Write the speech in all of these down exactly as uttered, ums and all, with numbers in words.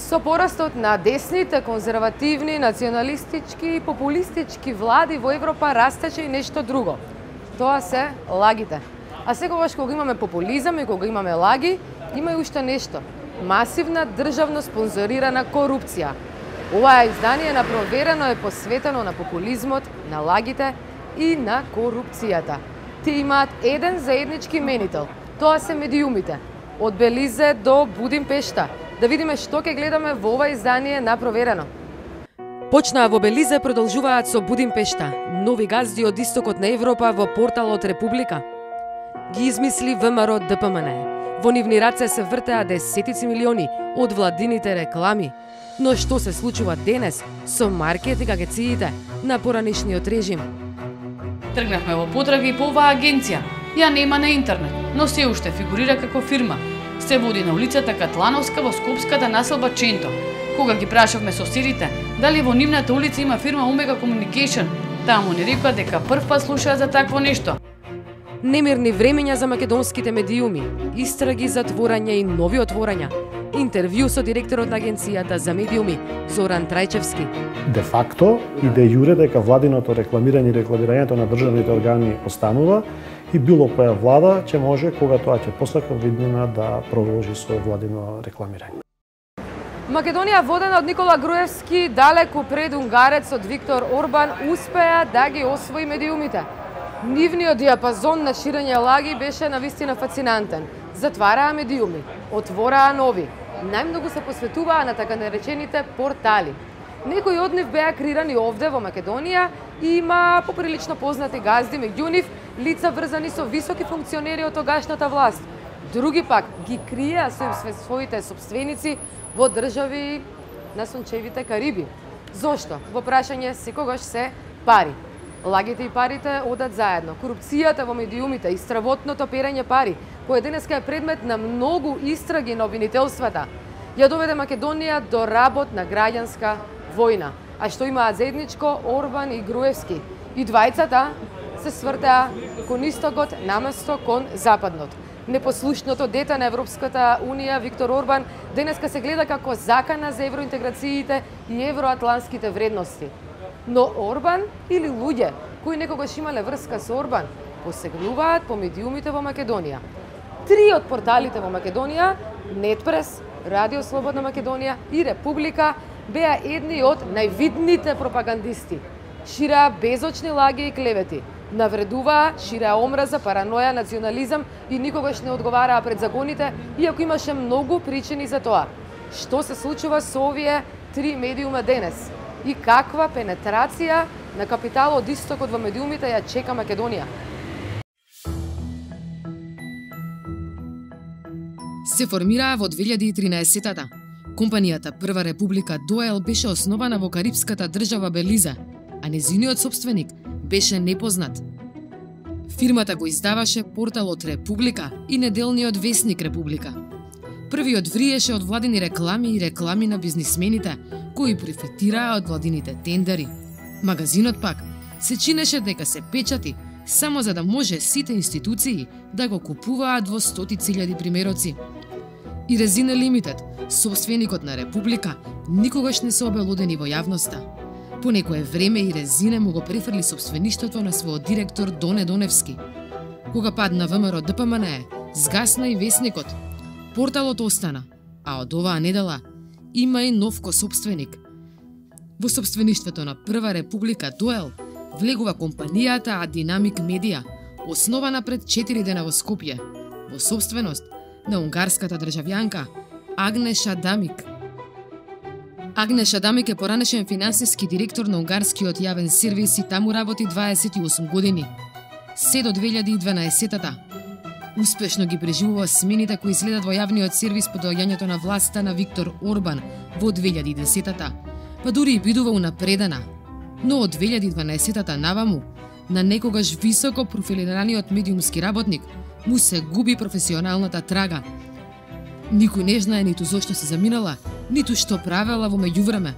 Со порастот на десните, конзервативни, националистички и популистички влади во Европа растеше и нешто друго. Тоа се лагите. А секогаш кога имаме популизам и кога имаме лаги, има и уште нешто. Масивна државно спонзорирана корупција. Ова издание на Проверено е посветено на популизмот, на лагите и на корупцијата. Тие имаат еден заеднички именител. Тоа се медиумите. Од Белизе до Будимпешта. Да видиме што ќе гледаме во ова издание на Проверено. Почнаа во Белизе, продолжуваат со Будимпешта. Нови газди од истокот на Европа во порталот Република. Ги измисли ВМРО Д П М Н Е. Во нивни раце се вртеа десетици милиони од владините реклами. Но што се случува денес со маркетинг агенциите на поранешниот режим? Тргнавме во потраги по оваа агенција. Ја нема на интернет, но се уште фигурира како фирма. Се води на улицата Катлановска во Скопската населба Ченто. Кога ги прашавме соседите дали во нивната улица има фирма Omega Communication, таму ни рекоа дека прв пат слушаат за такво нешто. Немирни времења за македонските медиуми, истраги, затворања и нови отворања. Интервју со директорот на агенцијата за медиуми Зоран Трајчевски. Де факто и де јуре дека владиното рекламирање и рекламирањето на државните органи останува и било која влада ќе може, кога тоа ќе посака виднина, да продолжи со владино рекламирање. Македонија, водена од Никола Груевски, далеку пред унгарецот Виктор Орбан, успеа да ги освои медиумите. Нивниот диапазон на ширење лаги беше навистина фасцинантен. Затвараа медиуми, отвораа нови. Најмногу се посветуваа на така наречените портали. Некои од нив беа креирани овде во Македонија и има поприлично познати газди, меѓу нив лица врзани со високи функционери од тогашната власт. Други пак ги криеа со своите сопственици во држави на сончевите Кариби. Зошто? Во прашање секогаш се пари. Лагите и парите одат заедно. Корупцијата во медиумите и стравотното перење пари, кој денеска е предмет на многу истраги на обвинителствата, ја доведе Македонија до работ на граѓанска војна. А што имаат заедничко Орбан и Груевски? И двајцата се свртеа кон истокот наместо кон западнот. Непослушното дете на Европската Унија Виктор Орбан денеска се гледа како закана за евроинтеграциите и евроатлантските вредности. Но Орбан или луѓе кои некогаш имале врска со Орбан посегнуваат по медиумите во Македонија. Три од порталите во Македонија, Нетпрес, Радио Слободна Македонија и Република, беа едни од највидните пропагандисти. Ширеа безочни лаги и клевети, навредуваа, ширеа омраза, параноја, национализам и никогаш не одговараа пред законите, иако имаше многу причини за тоа. Што се случува со овие три медиума денес? И каква пенетрација на капитал од истокот во медиумите ја чека Македонија? Се формираа во две илјади и тринаесетта. Компанијата Прва Република Доел беше основана во карипската држава Белизе, а незиниот собственик беше непознат. Фирмата го издаваше порталот Република и неделниот весник Република. Првиот вриеше од владини реклами и реклами на бизнисмените, кои профитираа од владините тендери. Магазинот пак се чинеше дека се печати само за да може сите институции да го купуваат во стотици илјади примероци. И Резина Лимитед, собственикот на Република, никогаш не се обелодени во јавноста. По некое време и Резине му го префрли собствеништвото на својот директор Доне Доневски. Кога падна ВМРО Д П М Н Е, згасна и весникот. Порталот остана, а од оваа недела има и нов кособственик. Во собствеништвото на Прва Република Доел влегува компанијата Динамик Медија, основана пред четири дена во Скопје, во собственост на унгарската државјанка Агнеша Дамик. Агнеша Дамик е поранешен финансиски директор на унгарскиот јавен сервис и таму работи дваесет и осум години. Се до две илјади и дванаесетта. Успешно ги преживува смените кои следат во јавниот сервис по доаѓањето на власта на Виктор Орбан во две илјади и десетта, па дури и бидува унапредена. Но од две илјади и дванаесетта наваму, на некогаш високо профилираниот медиумски работник, му се губи професионалната трага. Никој не знае ниту зошто се заминала, ниту што правела во меѓувреме.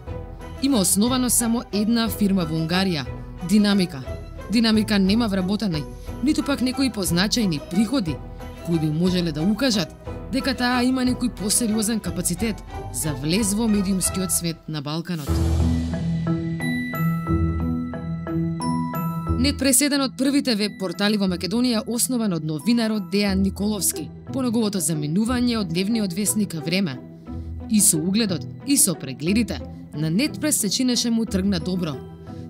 Има основано само една фирма во Унгарија – Динамика. Динамика нема вработени, ниту пак некои позначајни приходи, кои би можеле да укажат дека таа има некој посериозен капацитет за влез во медиумскиот свет на Балканот. Нетпрес е еден од првите веб портали во Македонија, основан од новинарот Дејан Николовски, по неговото заминување од дневниот весник Време. И со угледот, и со прегледите, на Нетпрес се чинеше му тргна добро.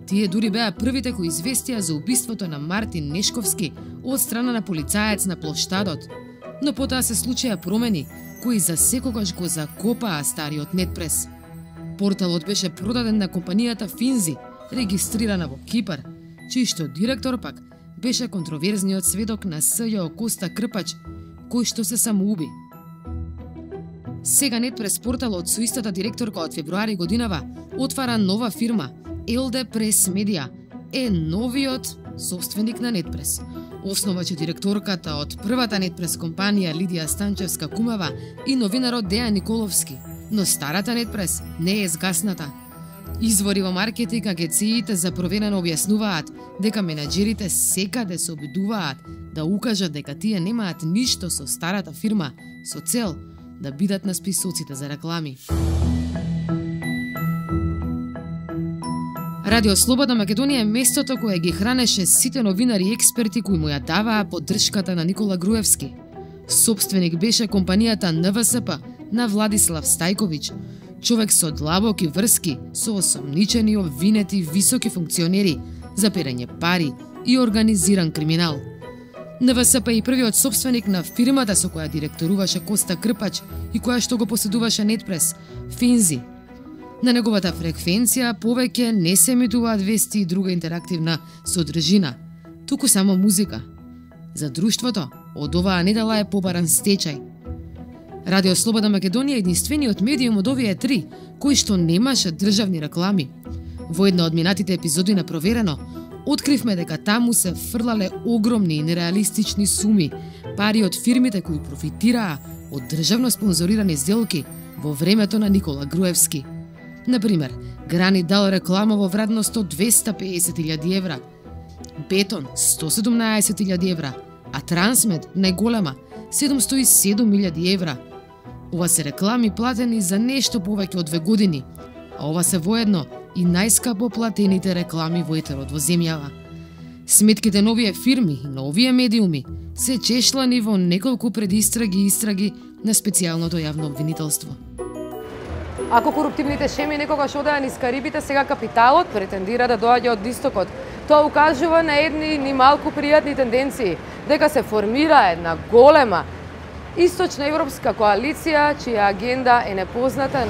Тие дури беа првите кои известија за убиството на Мартин Нешковски од страна на полицаец на плоштадот. Но потоа се случија промени, кои за секогаш го закопаа стариот Нетпрес. Порталот беше продаден на компанијата Финзи, регистрирана во Кипар, чиј што директор пак беше контроверзниот сведок на СЈО Коста Крпач, кој што се самоуби. Сега Нетпрес порталот со истата директорка од февруари годинава отвара нова фирма, ел де Прес Медија, е новиот собственик на Нетпрес. Основаче директорката од првата Нетпрес компанија Лидија Станчевска-Кумава и новинарот Дејан Николовски, но старата Нетпрес не е згасната. Извори во маркетинг агенциите за проверено објаснуваат дека менаџерите секаде се обидуваат да укажат дека тие немаат ништо со старата фирма со цел да бидат на списоците за реклами. Радио Слободна Македонија е местото кое ги хранеше сите новинари и експерти кои му ја даваа поддршката на Никола Груевски. Собственик беше компанијата Ен Ве Ес Пе на Владислав Стајковиќ, човек со длабоки врски со осомничени обвинети високи функционери за перење пари и организиран криминал. Ен Ве Ес Пе е првиот собственик на фирмата со која директоруваше Коста Крпач и која што го поседуваше Нетпрес, Финзи. На неговата фреквенција повеќе не се емитуваат вести и друга интерактивна содржина, туку само музика. За друштвото, од оваа недела е побаран стечај. Радио Слободна Македонија е единствениот медиум од овие три, кој што немаше државни реклами. Во една од минатите епизоди на Проверено, откривме дека таму се фрлале огромни и нереалистични суми, пари од фирмите кои профитираа од државно спонзорирани сделки во времето на Никола Груевски. Например, Грани дал реклама во вредност од двесте пеесет илјади евра, Бетон сто седумнаесет илјади евра, а Трансмед, најголема, седумсто и седум илјади евра. Ова се реклами платени за нешто повеќе од две години, а ова се воедно и најскапо платените реклами во етерот во земјава. Сметките на овие фирми и на овие медиуми се чешлани во неколку предистраги и истраги на специјалното јавно обвинителство. Ако коруптивните шеми некогаш одеа низ Карибите, сега капиталот претендира да доаѓа од истокот. Тоа укажува на едни ни малку пријатни тенденции, дека се формира една голема источна европска коалиција, чија агенда е непозната,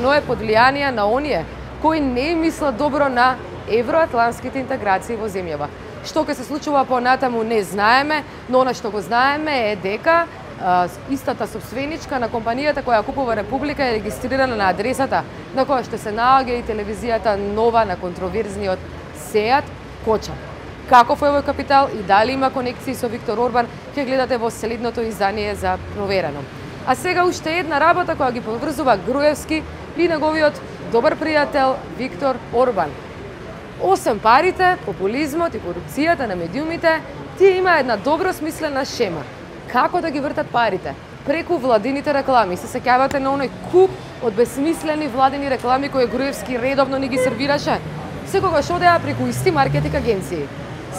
но е под влијание на оние кои не мислат добро на евроатлантските интеграции во земјава. Што ќе се случува понатаму не знаеме, но она што го знаеме е дека истата собственичка на компанијата која купува Република е регистрирана на адресата на која што се наоѓа и телевизијата нова на контроверзниот Сеат Коча. Каков е овој капитал и дали има конекции со Виктор Орбан, ќе гледате во следното издание за Проверено. А сега уште една работа која ги поврзува Груевски и неговиот добар пријател Виктор Орбан. Осем парите, популизмот и корупцијата на медиумите, тие има една добро смислена шема. Како да ги вртат парите? Преку владините реклами. Се сеќавате на оној куп од безсмислени владини реклами кои Груевски редовно ни ги сервираше? Секогаш одеа преку исти маркетинг агенции.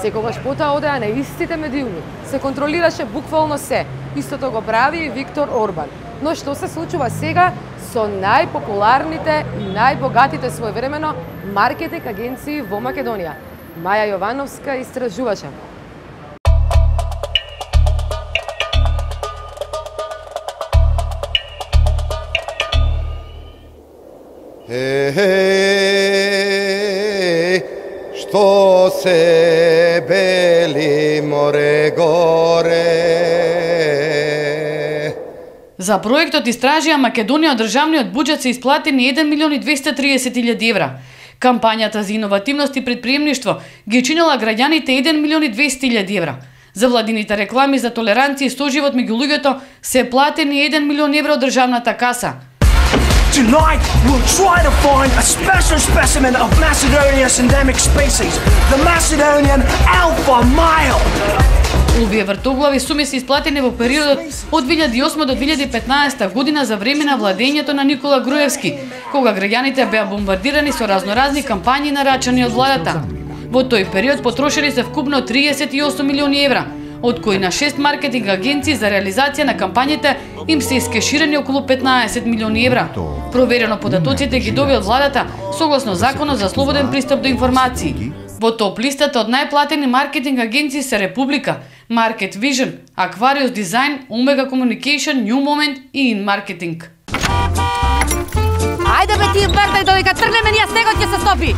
Секогаш потоа одеа на истите медиуми. Се контролираше буквално се. Истото го прави и Виктор Орбан. Но што се случува сега со најпопуларните и најбогатите своевремено маркетинг агенции во Македонија? Маја Јовановска истражуваше. Ей, што се бели море горе. За проектот истражија Македонија од државниот буџет се исплатени еден милион и двесте триесет илјади евра. Кампањата за иновативност и предприемништво ги чинела граѓаните еден милион и двесте илјади евра. За владините реклами за толеранција и соживот меѓу луѓето се платени еден милион евра од државната каса. Tonight, we'll try to find a special specimen of Macedonia's endemic species, the Macedonian alpha male. Овие вртоглави суми се исплатени во периодот од две илјади и осма до две илјади и петнаесета година за време на владењето на Никола Груевски, кога граѓаните беа бомбардирани со разноразни кампањи нарачани од владата. Во тој период потрошени се вкупно триесет и осум милиони евра, од кои на шест маркетинг агенции за реализација на кампањите им се искеширани околу петнаесет милиони евра. Проверено податоците ги доби од владата согласно Законот за слободен пристап до информации. Во топ листата од најплатени маркетинг агенции се Република, Market Vision, Aquarius Design, Omega Communication, New Moment и In Marketing. Ајде бе ти вртај додека тргнеме ние снегот ќе се стопи.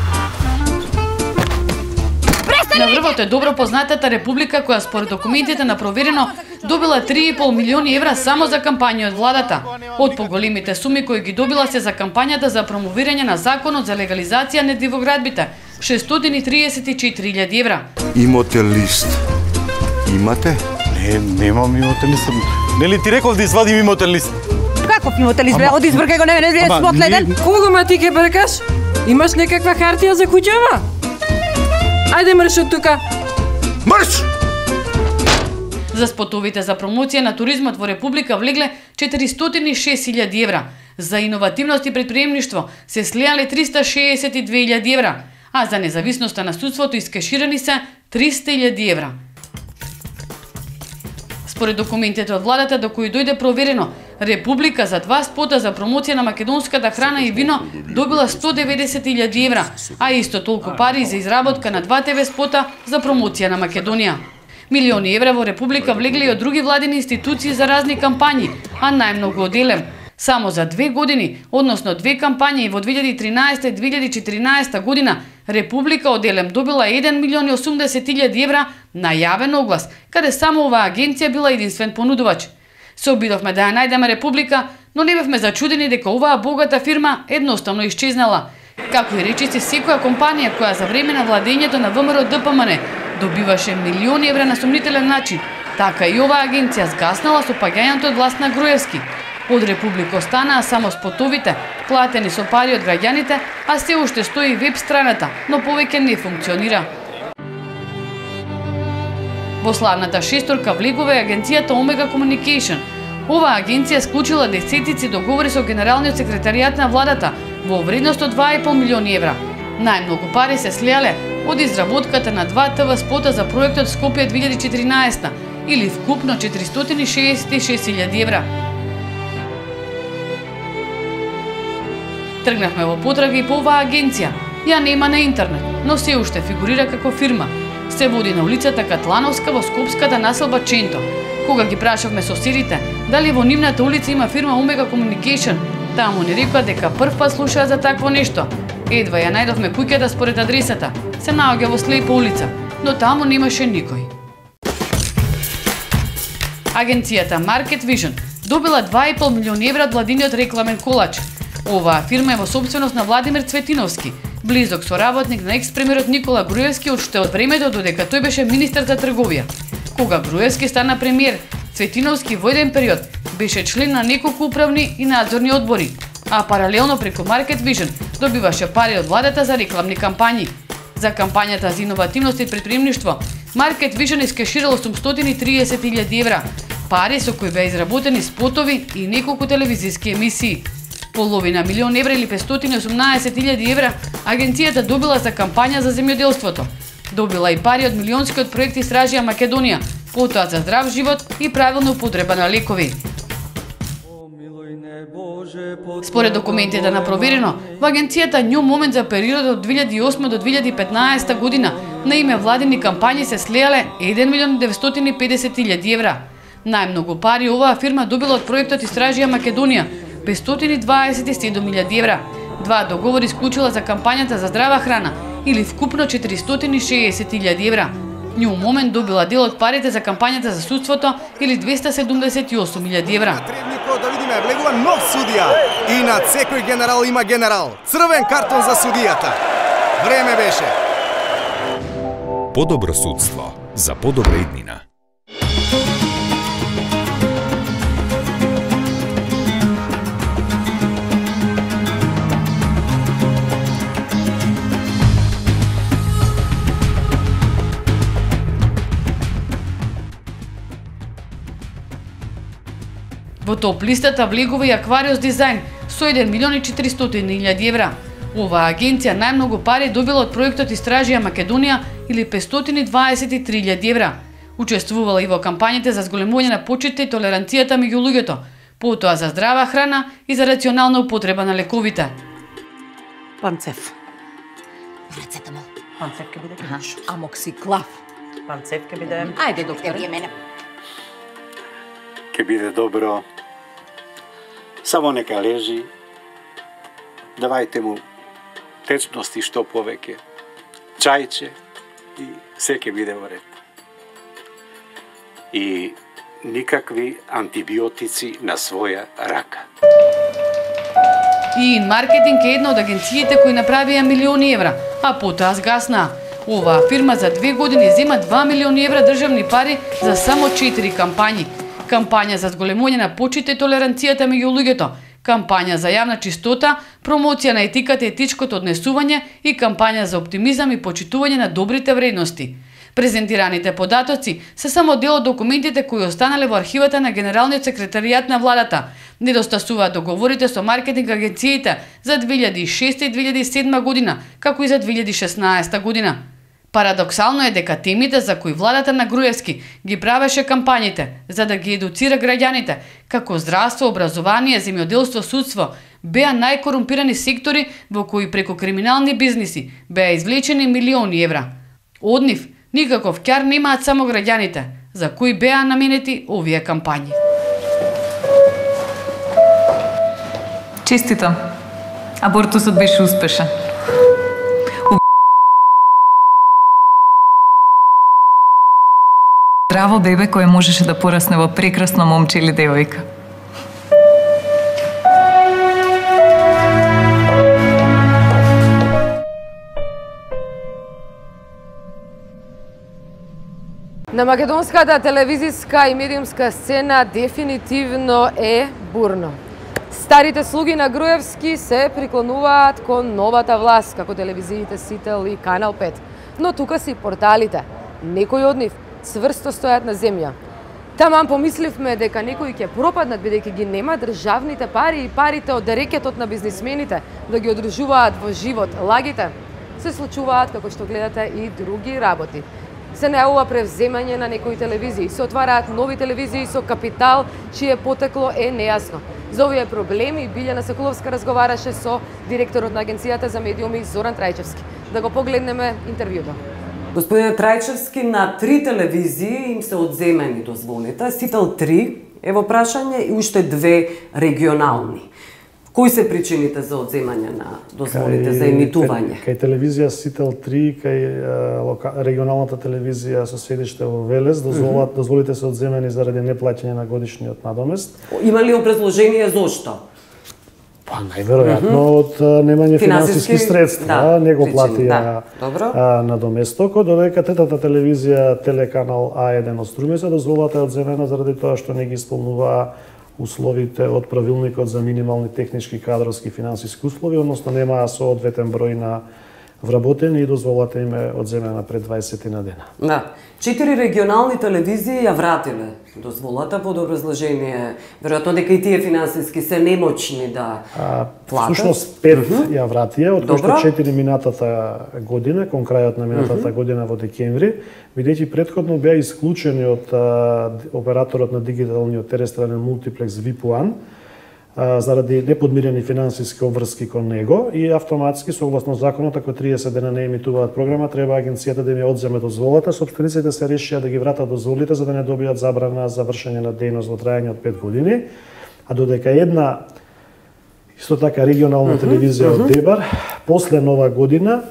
На врвот е добро познатата Република која според документите на проверено добила три и пол милиони евра само за кампања од владата. Од поголемите суми кои ги добила се за кампањата за промовирање на законот за легализација на дивоградбите, шестстотини и триесет и четири илјади евра. Имате лист? Имате? Не, немам имотен лист. Нели ти реков да извадим имотен лист? Каков имотен лист? Од избркај го, не не не смотледен. Кого ма ти ке бркаш? Имаш некаква хартија за куќава? Ајде мрш од тука. Мрш! За спотовите за промоција на туризмот во Република влегле четиристотини и шест илјади евра. За иновативност и предприемништво се слеале триста шеесет и две илјади евра, а за независноста на судството искеширани се триста илјади евра. Според документите од владата до кои дојде проверено, Република за два спота за промоција на македонската храна и вино добила сто деветдесет илјади евра, а исто толку пари за изработка на два те ве спота за промоција на Македонија. Милиони евра во Република влегле и од други владини институции за разни кампањи, а најмногу од Елем. Само за две години, односно две кампањи во две илјади и тринаесета и две илјади и четиринаесета година, Република од Елем добила еден милион и осумдесет илјади евра на јавен оглас, каде само оваа агенција била единствен понудувач. Се обидовме да ја најдеме Република, но не бевме зачудени дека оваа богата фирма едноставно исчезнала. Како и речиси секоја компанија која за време на владењето на ВМРО Д П М Н добиваше милиони евра на сомнителен начин, така и оваа агенција згаснала со паѓањето од власт на Груевски. Од Република останаа само спотовите, платени со пари од граѓаните, а се уште стои веб страната, но повеќе не функционира. Во славната шесторка влегува агенцијата Omega Communication. Оваа агенција склучила десетици договори со генералниот секретаријат на владата во вредност од два и пол милиони евра. Најмногу пари се слеале од изработката на два те ве спота за проектот Скопје две илјади и четиринаесета или вкупно четиристотини шеесет и шест илјади евра. Тргнавме во потрага и по оваа агенција. Ја нема на интернет, но се уште фигурира како фирма. Се води на улицата Катлановска во скопската населба Ченто. Кога ги прашавме соседите дали во нивната улица има фирма Omega Communication, таму ни рекоа дека прв пат слушаа за такво нешто. Едва ја најдовме куќата според адресата. Се наоѓа во Слепа улица, но таму немаше никој. Агенцијата Market Vision добила два и пол милиони евра од владиниот рекламен колач. Оваа фирма е во собственост на Владимир Цветиновски, близок соработник на екс-премиерот Никола Груевски уште од времето додека тој беше министер за трговија. Кога Груевски стана премиер, Цветиновски во еден период беше член на неколку управни и надзорни одбори, а паралелно преку Market Vision добиваше пари од владата за рекламни кампањи. За кампањата за иновативност и предприемништво, Market Vision искеширало осумстотини и триесет илјади евра, пари со кои беа изработени спотови и неколку телевизиски емисии. Половина милион евра или петстотини и осумнаесет илјади евра агенцијата добила за кампања за земјоделството. Добила и пари од милионскиот проект Истражија Македонија, потоа за здрав живот и правилна употреба на лекови. Според документите на проверено, во агенцијата New Moment за периодот од две илјади и осма до две илјади и петнаесета година на име владини кампањи се слеале еден милион деветстотини и педесет илјади евра. Најмногу пари оваа фирма добила од проектот Истражија Македонија, петстотини и дваесет и седум илјади евра. Два договори склучила за кампањата за здрава храна или вкупно четиристотини и шеесет илјади евра. New Moment добила дел од парите за кампањата за судството или двеста седумдесет и осум илјади евра. Требникот да видиме, влегува нов судија и над секој генерал има генерал. Црвен картон за судијата. Време беше. Подобро судство за подобра иднина. Во топ листата влегува и Аквариус дизајн со еден милион и четиристотини илјади евра. Оваа агенција најмногу пари добила од проектот Истражија Македонија или петстотини и дваесет и три илјади евра. Учествувала и во кампањите за зголемување на почитта и толеранцијата меѓу луѓето, потоа за здрава храна и за рационална употреба на лековите. Панцев. Парацетамол. Панцев ке биде. Амоксиклав. Панцев ке биде. Ајде, доктор, вие мене. Ке биде добро. Само нека лежи. Давајте му течности што повеќе. Чајче и се ке биде во ред. И никакви антибиотици на своја рака. И маркетинг е една од агенциите кои направија милиони евра, а потоа згаснаа. Оваа фирма за две години зема два милиони евра државни пари за само четири кампањи. Кампања за зголемување на почитта и толеранцијата меѓу луѓето, кампања за јавна чистота, промоција на етиката и етичкото однесување и кампања за оптимизам и почитување на добрите вредности. Презентираните податоци се само дел од документите кои останале во архивата на Генералниот секретаријат на владата. Недостасуваат договорите со маркетинг агенциите за две илјади и шеста и две илјади и седма година, како и за две илјади и шеснаесета година. Парадоксално е дека темите за кои владата на Груевски ги правеше кампањите за да ги едуцира граѓаните, како здравство, образование, земјоделство, судство, беа најкорумпирани сектори во кои преку криминални бизниси беа извлечени милиони евра. Од нив никаков ќар немаат само граѓаните, за кои беа наменети овие кампањи. Честитам. Абортусот беше успешен. Здраво бебе кое можеше да порасне во прекрасно момче или девојка. На македонската телевизиска и медиумска сцена дефинитивно е бурно. Старите слуги на Груевски се приклонуваат кон новата власт, како телевизиите Сител и Канал пет. Но тука си порталите. Некои од нив цврсто стојат на земја. Таман помисливме дека некои ќе пропаднат бидејќи ги нема државните пари и парите од рекетот на бизнисмените да ги одржуваат во живот. Лагите се случуваат, како што гледате, и други работи. Се најавува превземање на некои телевизии, се отвараат нови телевизии со капитал чие потекло е нејасно. За овие проблеми Билјана Соколовска разговараше со директорот на Агенцијата за медиуми Зоран Трајчевски. Да го погледнеме интервјуто. Господине Трајчевски, на три телевизии им се одземени дозволите. Сител три е во прашање и уште две регионални. Кои се причините за одземање на дозволите кај, за емитување? Кај телевизија Сител три, кај регионалната телевизија со седиште во Велес, дозволат, mm -hmm. дозволите се одземени заради неплаќање на годишниот надомест. Има ли образложение зошто? Па најверојатно mm -hmm. од немање финансиски средства, да, не го платија да. надоместокот, додека третата телевизија Телеканал А еден од Струмица дозволата е одземена заради тоа што не ги исполнува условите од правилникот за минимални технички, кадровски и финансиски услови, односно немаа соодветен број на вработени и дозволата им е одземена пред дваесет на дена. Да. Четири регионални телевизии ја вратиле дозволата под образложение, веројатно дека и тие финансиски се немочни да а, платат. Всушност пет mm -hmm. ја вратија, од кои што четири минатата година, кон крајот на минатата mm -hmm. година во декември, бидејќи претходно беа исклучени од а, операторот на дигиталниот терестријален мултиплекс ви пи еден, заради неподмирени финансиски обврски кон него и автоматски согласно законот ако триесет дена не емитуваат програма треба агенцијата да им ја одземе дозволата, сопствениците се решија да ги вратат дозволите за да не добијат забрана за вршење на дејност во трајање од пет години, а додека една исто така регионална телевизија mm -hmm. од Дебар после нова година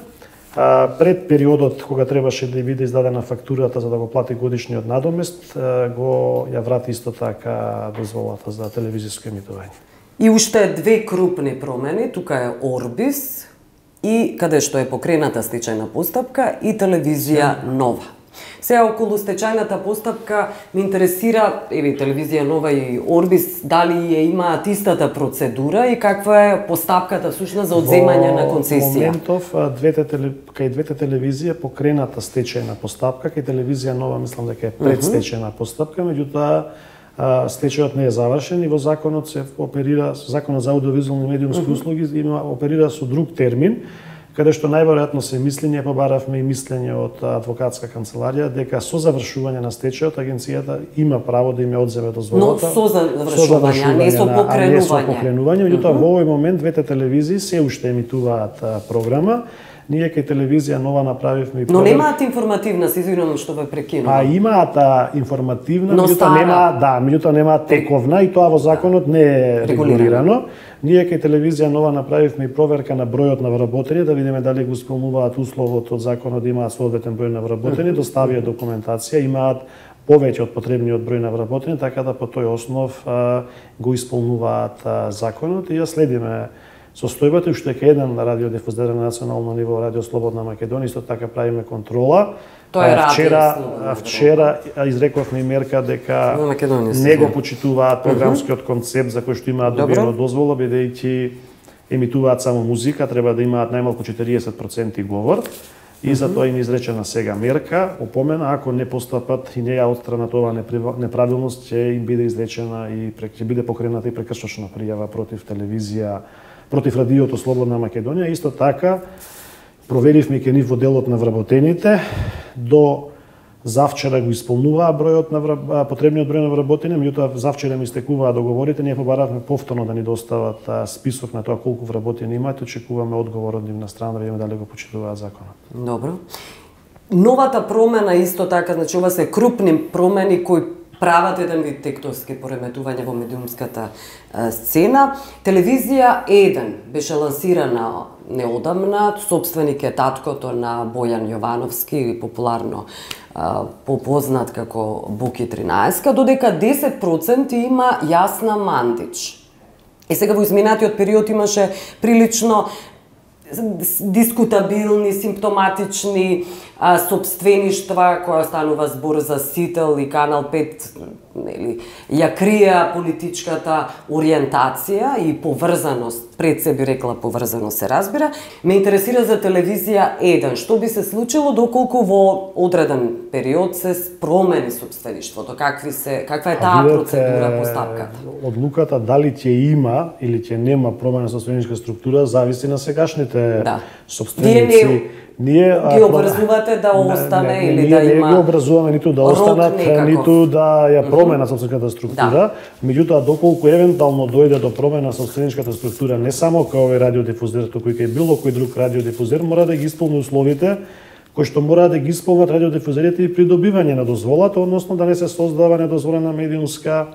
А, пред периодот кога требаше да биде издадена фактурата за да го плати годишниот надомест, го ја врати исто така дозволата за телевизиско емитување. И уште две крупни промени, тука е Орбис и каде што е покрената стечајна постапка и телевизија Нова. Сега околу стечајната постапка ме интересира, еве телевизија Нова и Орбис, дали ја имаат истата процедура и каква е постапката всушност за одземање на концесија? Во моментов двете теле... кај двете телевизија покрената стечајна постапка, кај телевизија Нова мислам дека е предстечајна постапка, меѓутоа стечајот не е завршен и во законот се оперира, законот за аудиовизуални медиумски услуги има оперира со друг термин, каде што најверојатно се мисли, ние побаравме и мислење од адвокатска канцеларија дека со завршување на стечајот агенцијата има право да им ја одземе дозволата. Но со завршување, не со покренување. Не со покренување, меѓутоа во овој момент двете телевизии се уште емитуваат програма. Ние кај телевизија Нова направивме и Но немаат информативна, се извинувам што ве прекинувам. А имаат информативна, меѓутоа нема, да, меѓутоа нема тековна и тоа во законот не е регулирано. Ние кај телевизија Нова направивме и проверка на бројот на вработени, да видиме дали го исполнуваат условот од законот да имаат соодветен број на вработени, доставија документација, имаат повеќе од потребниот број на вработени, така да по тој основ а, го исполнуваат а, законот и ја следиме состојбата, уште дека еден радиодифузер на национално ниво, Радио Слободна Македонија, исто така правиме контрола. Тоа е вчера, вчера изрековме и мерка дека не го почитуваат програмскиот концепт за кој што имаат добиено дозвола, бидејќи емитуваат само музика, треба да имаат најмалку четириесет проценти говор. И за тоа им изречена сега мерка, опомена, ако не постапат и не ја отстранат оваа неправилност, ќе им биде изречена и ќе биде покрената и прекршочна пријава против телевизија, против радиото Слободна Македонија. Исто така, проверивме ке нив во делот на вработените, до завчера го исполнуваа бројот на враб... потребниот број на вработени, меѓутоа завчера ми истекуваа договорите, ние побаравме повторно да ни достават список на тоа колку вработени имаат, очекуваме одговор од нивна страна да видиме дали го почитуваат законот. Добро. Новата промена исто така, значи ова се крупни промени кои прават еден вид тектонски пореметување во медиумската сцена. Телевизија еден беше лансирана неодамна, собственик е таткото на Бојан Јовановски, популарно попознат како Буки тринаесет, додека десет проценти има Јасна Мандич. И сега во изминатиот период имаше прилично дискутабилни, симптоматични а, собствеништва, која станува збор за Сител и Канал пет, нели, ја крија политичката ориентација и поврзаност, пред се би рекла поврзаност се разбира. Ме интересира за телевизија еден, што би се случило доколку во одреден период се промени собствеништвото, какви се, каква е таа процедура, постапката? Одлуката дали ќе има или ќе нема промена собственичка структура зависи на сегашните да. собственици. Вие Ние ги образувате да остане не, не, или да има. Не ги образуваме ниту да останат, ниту да ја промена собственичката структура, да. Меѓутоа доколку евентуално дојде до промена собственичката структура, не само кај овој радиодифузер, туку и кај било кој друг радиодифузер, мора да ги исполни условите кои што мора да ги исполнат радиодифузерите и при добивање на дозволата, односно да не се создава недозволена медиумска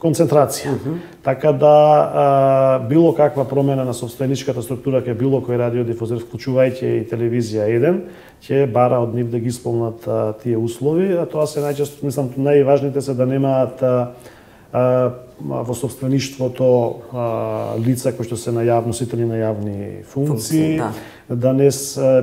концентрација. Uh -huh. Така да а, било каква промена на собственичката структура кај било кој радиодифузер, вклучувајќи и телевизија еден, ќе бара од нив да ги исполнат а, тие услови, а тоа се најчесто, мислам, најважните се да немаат а, а, во собствеништвото а, лица кои што се на јавно носители на јавни функции, да, да не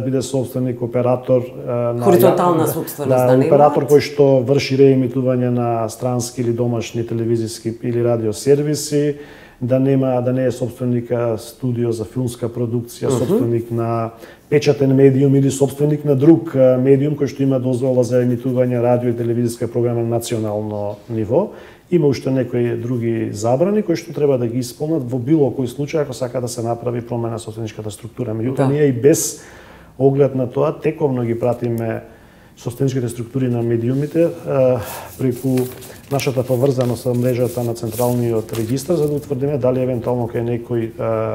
биде собственик оператор а, на хоризонтална собственост, да, да оператор кој што врши реемитување на странски или домашни телевизиски или радиосервиси, да нема да не е собственик студио за филмска продукција, uh -huh. собственик на печатен медиум или собственик на друг медиум кој што има дозвола за емитување радио и телевизиска програма на национално ниво. Има уште некои други забрани кои што треба да ги исполнат во било кој случај ако сака да се направи промена собственичката структура. Меѓутоа да. ние и без оглед на тоа тековно ги пратиме собственичките структури на медиумите преку нашата поврзаност со мрежата на централниот регистар за да утврдиме дали евентуално кај некој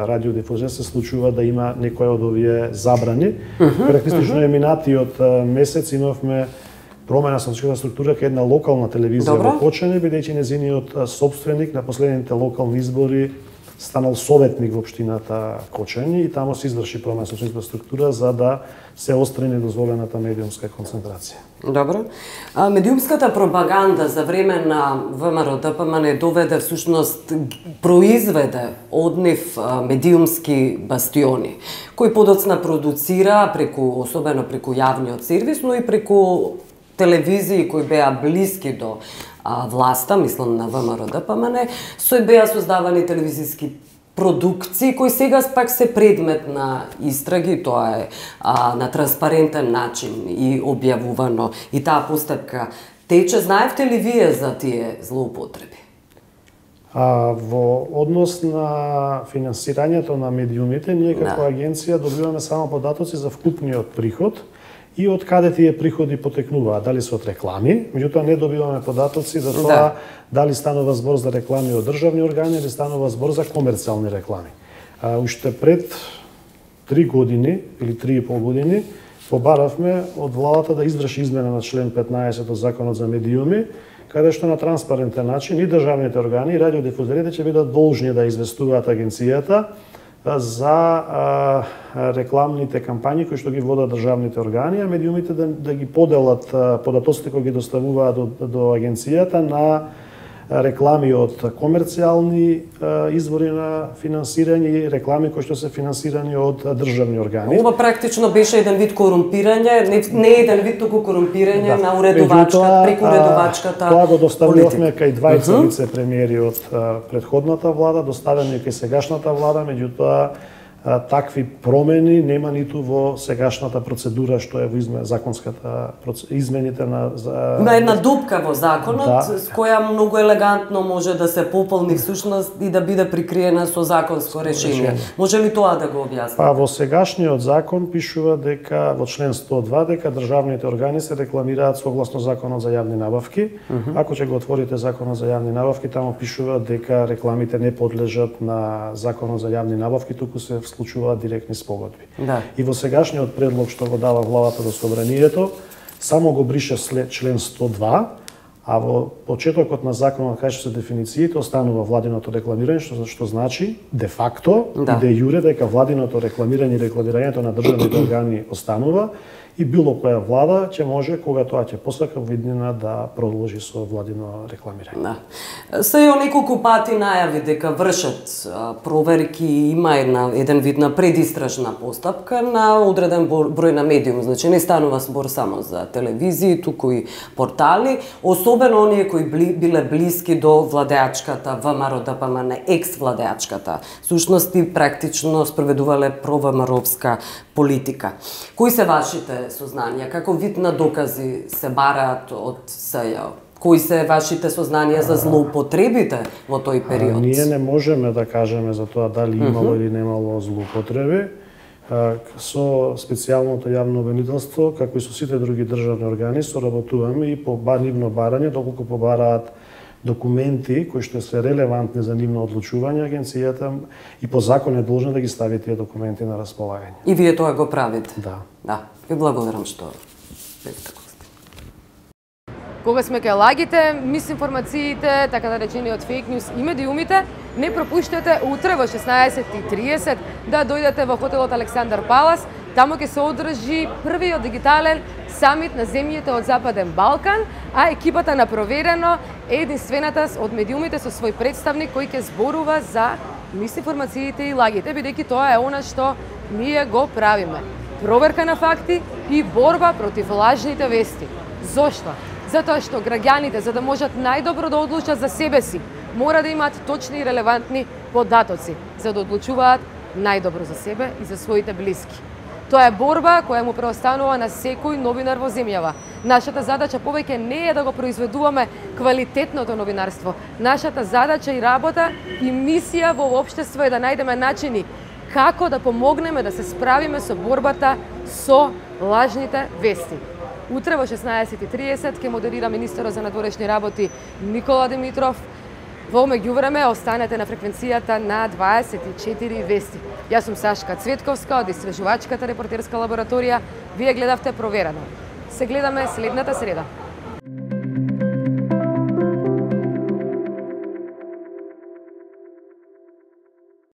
радиодифузер се случува да има некоја од овие забрани. Uh -huh, Практично uh -huh. минатиот месец имавме промена собственичката структура кај една локална телевизија Добро. во Кочани, бидејќи незиниот собственик на последните локални избори станал советник во општината Кочани и таму се изврши промена собственичката структура за да се остри недозволената медиумска концентрација. Добро. А, медиумската пропаганда за време на ВМРО-ДПМН доведе всушност произведе од нив медиумски бастиони кои подоцна продуцира преку особено преку јавниот сервис, но и преку телевизии кои беа блиски до а, власта, мислам на ВМРО-ДПМН, со беа создавани телевизиски продукции кои сега пак се предмет на истраги, тоа е а, на транспарентен начин и објавувано и таа постапка тече. Знаевте ли вие за тие злоупотреби? А во однос на финансирањето на медиумите, ние како Да. агенција добиваме само податоци за вкупниот приход и од каде тие приходи потекнуваат, дали се од реклами, меѓутоа не добиваме податоци за тоа Да. дали станува збор за реклами од државни органи или станува збор за комерцијални реклами. А, уште пред три години или три и пол години побаравме од владата да изврши измена на член петнаесет од Законот за медиуми, каде што на транспарентен начин и државните органи и радиодифузерите ќе бидат должни да известуваат агенцијата за а, рекламните кампањи кои што ги водат државните органи, а медиумите да, да ги поделат а, податоците кои ги доставуваат до, до агенцијата на реклами од комерцијални а, извори на финансирање и реклами кои што се финансирани од државни органи. Ова практично беше еден вид корумпирање, не, не еден вид туку корумпирање Да. на уредувачката, Меѓутоа, преку уредувачката. Тоа го доставувавме кај двајца Мгм. вице-премиери од а, предходната влада, доставени кај сегашната влада, меѓутоа а, такви промени нема ниту во сегашната процедура што е во изме, законската проц- измените на за... Има една дупка во законот, Да. с која многу елегантно може да се пополни всушност и да биде прикриена со законско решение. решение. Може ли тоа да го објасни? Па во сегашниот закон пишува дека во член сто два дека државните органи се рекламираат согласно Законот за јавни набавки. Мгм. Ако ќе го отворите Законот за јавни набавки, таму пишува дека рекламите не подлежат на Законот за јавни набавки, туку се вклучуваат директни спогодби. Да. И во сегашниот предлог што го дава владата до собранието, само го брише след член сто два, а во почетокот на законот кај што се дефинициите останува владиното рекламирање, што, што значи де факто Да. и де јуре дека владиното рекламирање и рекламирањето на државните органи останува и било која влада ќе може, кога тоа ќе посака виднина, да продолжи со владино рекламирање. Да. Се ја неколку пати најави дека вршат а, проверки и има една еден вид на предистражна постапка на одреден бор- број на медиум, значи не станува збор само за телевизии, туку и портали, особено оние кои бли, биле блиски до владеачката ВМРО Д П М Н, екс-владеачката. Сушност и практично спроведувале провамаровска политика. Кои се вашите сознанија? Како вид на докази се бараат од С Ј О? Кои се вашите сознанија за злоупотребите во тој период? А, ние не можеме да кажеме за тоа дали имало Мгм. или немало злоупотреби. А, Со специјалното јавно обвинителство, како и со сите други државни органи, соработуваме и по ба- нивно барање, доколку побараат документи кои што се релевантни за нивно одлучување, агенцијата и по закон е должна да ги стави тие документи на располагање. И вие тоа го правите? Да. Да. Ви благодарам што бевте како сте. Кога сме кај лагите, мисинформациите, така да речениот фейк ньюс и медиумите, не пропуштете утре во шеснаесет и триесет да дојдете во хотелот Александар Палас. Таму ќе се одржи првиот дигитален самит на земјите од Западен Балкан, а екипата на Проверено е единствената од медиумите со свој представник кој ќе зборува за мисинформациите и лагите, бидејќи тоа е она што ние го правиме. Проверка на факти и борба против лажните вести. Зошто? Затоа што граѓаните, за да можат најдобро да одлучат за себе си, мора да имаат точни и релевантни податоци, за да одлучуваат најдобро за себе и за своите блиски. Тоа е борба која му преостанува на секој новинар во земјава. Нашата задача повеќе не е да го произведуваме квалитетното новинарство. Нашата задача и работа и мисија во општество е да најдеме начини како да помогнеме да се справиме со борбата со лажните вести. Утре во шеснаесет и триесет ќе модерира министерот за надворешни работи Никола Димитров. Во меѓувреме останете на фреквенцијата на дваесет и четири вести. Јас сум Сашка Цветковска од Истражувачката репортерска лабораторија. Вие гледавте Проверено. Се гледаме следната среда.